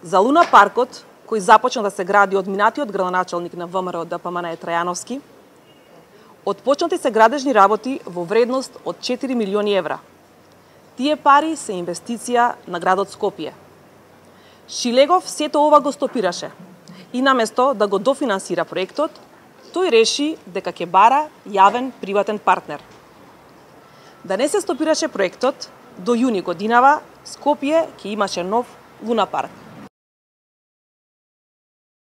За Луна паркот, кој започна да се гради од минатиот градоначалник на ВМРО ДПМН Трајановски, отпочнати се градежни работи во вредност од 4 милиони евра. Тие пари се инвестиција на градот Скопје. Шилегов сето ова го стопираше и наместо да го дофинансира проектот, тој реши дека ќе бара јавен приватен партнер. Да не се стопираше проектот, до јуни годинава Скопје ќе имаше нов Луна парк.